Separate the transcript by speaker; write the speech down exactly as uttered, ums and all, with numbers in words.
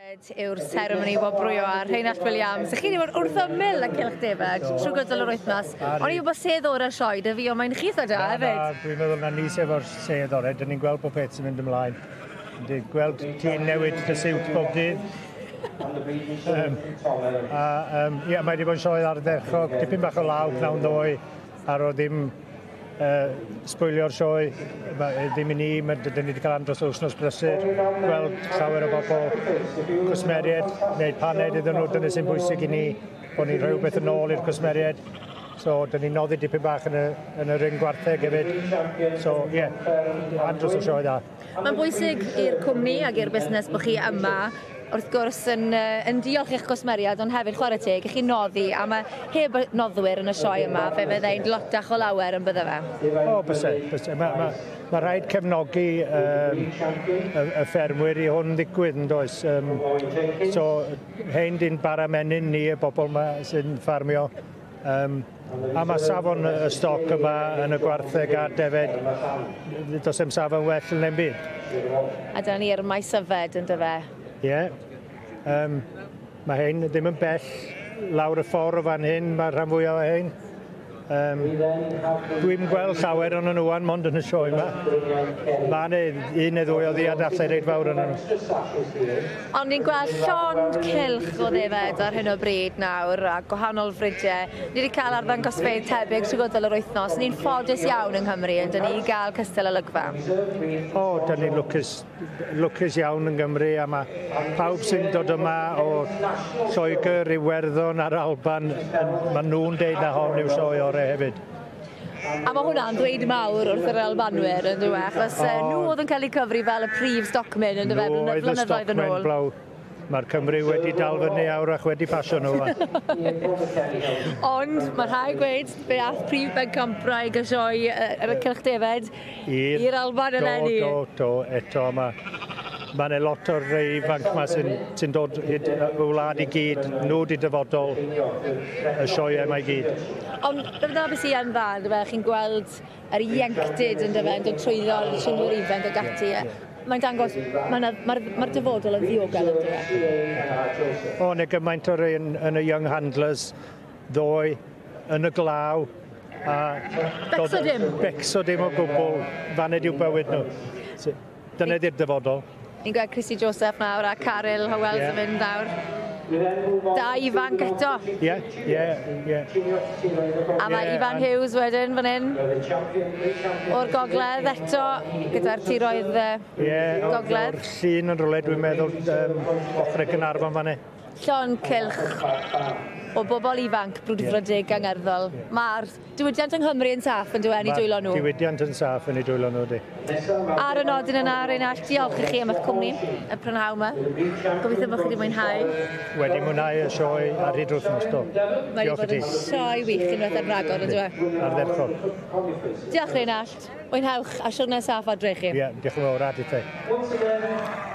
Speaker 1: Yw'r seremoni wobrwyo a Rheinallt Williams. Chi wedi bod wrth ymyl y Cylch Defed trwy gydol yr wythnos. O'n i'n gwybod sedd o'r sioe 'da fi, ond mae'n chith o da hefyd.
Speaker 2: Na, dwi'n meddwl na ni sef o'r sedd orau. Dyn ni'n gweld bod peth sy'n mynd ymlaen. Dwi'n gweld ti'n newid dy siwt bob dydd. Um, a um, ie, mae wedi bod yn sioe ardderchog, dipyn bach o law pnawn ddoe, ar o ddim uh, sbwylio'r sioe, ddim i ni, dyn ni wedi cael andros o wythnos brysur, gweld llawer o bobl, cwsmeriaid, wneud paned iddyn nhw, dyna sy'n bwysig i ni, bod ni'n rhoi rhywbeth yn ôl i'r cwsmeriaid. So, dyn ni'n noddi dipyn bach yn y, yn y ring gwartheg hefyd. So, ie, yeah, andros o sioe dda.
Speaker 1: Mae'n bwysig i'r cwmni ac i'r busnes bod chi yma, wrth gwrs yn, yn diolch i'ch gwsmeriaid, ond hefyd chwarae teg, i chi noddi, a mae heb noddwyr yn y sioe yma, fe fyddai'n lotach o lawer yn bydde fe.
Speaker 2: O, byse, byse. Mae ma, ma rhaid cefnogi um, y, y ffermwyr i hwn ddigwydd, yn does. Um, so, hein di'n bara menyn ni, y bobl yma sy'n ffarmio. Um, a mae safon y stoc yma yn y gwartheg a'r defed, does dim safon well yn ein byd.
Speaker 1: A dyna ni'r maes yfed yn dyfe.
Speaker 2: Ie. Yeah. Um, mae hein ddim yn bell lawr y ffordd o fan hyn, mae'r rhan fwyaf o hein. Um, Dwi'n gweld llawer o'n nhw wan, mond yn y sioe yma. Mae yna un neu ddwy o ddiadallau reit fawr yn nhw.
Speaker 1: Ond ni'n gweld llond cylch o ddefed ar hyn o bryd nawr, a gwahanol fridiau. Ni wedi cael arddangosfeydd tebyg trwy gydol yr wythnos. Ni'n ffodus iawn yng Nghymru, yn dyn ni, i gael cystal olygfa.
Speaker 2: O, dyn ni'n lwcus, lwcus iawn yng Nghymru, a mae pawb sy'n dod yma o Lloegr, Iwerddon a'r Alban, maen nhw'n deud na hon yw'r sioe orau hefyd.
Speaker 1: A mae hwnna'n dweud mawr wrth yr Albanwyr, yn dweud, achos oh, nhw oedd yn cael eu cyfri fel y prif stocmen yn dweud, blynyddoedd yn ôl.
Speaker 2: Mae'r Cymru wedi dal fyny awr ac wedi pasio nhw.
Speaker 1: Ond mae rhaid gweud, fe ath prif bencampwraig y sioe yr y Cylch Defed i'r Alban eleni.
Speaker 2: Do, do, do, eto mae Mae yna lot o'r rei ifanc yma sy'n sy dod y wlad i gyd, nhw di dyfodol y sioe yma i gyd.
Speaker 1: Ond dyna beth sy'n yn dda, dyfe, chi'n gweld yr ieuenctid yn dyfe, yn dod trwyddo trinwyr ifanc ag ati. Yeah, yeah. Mae'n dangos, mae'r ma ma dyfodol yn ddiogel yn dyfe.
Speaker 2: O, neu gymaint o'r rei yn, yn y Young Handlers ddoe, yn y glaw. A
Speaker 1: becso dim.
Speaker 2: Becso dim o gwbl, faned i'w bywyd nhw. Dyna di'r dyfodol.
Speaker 1: Ni'n gweld Christy Joseph nawr a Caryl Howells yeah. yn mynd nawr. Da ifanc eto.
Speaker 2: Ie, ie, ie.
Speaker 1: A mae Ifan Hughes wedyn fan hyn. O'r gogledd eto, gyda'r tiroedd
Speaker 2: yeah,
Speaker 1: gogledd.
Speaker 2: O'r llun yn rhywle, dwi'n meddwl, um, ochr y Gaernarfon fan hyn.
Speaker 1: Llond cylch o bobl ifanc brwdfrydig yeah. angerddol. Yeah. Mae'r diwydiant yng Nghymru yn saff yn dweud yn ei dwylo nhw.
Speaker 2: Diwydiant yn saff yn ei dwylo nhw, di.
Speaker 1: Ar y nodyn yna, Rheinallt, diolch i chi am eich cwmni y prynhawn yma. Gobeithio bod chi wedi mwynhau.
Speaker 2: Wedi mwynhau y sioe ar hyd wythnos, do.
Speaker 1: Mae wedi bod yn sioe wych unwaith ar ragor, yn dweud.
Speaker 2: Ardderchog.
Speaker 1: Diolch, Rheinallt. Mwynhewch a siwrne saff adre i chi.
Speaker 2: Ie, yeah, diolch yn fawr, a di te.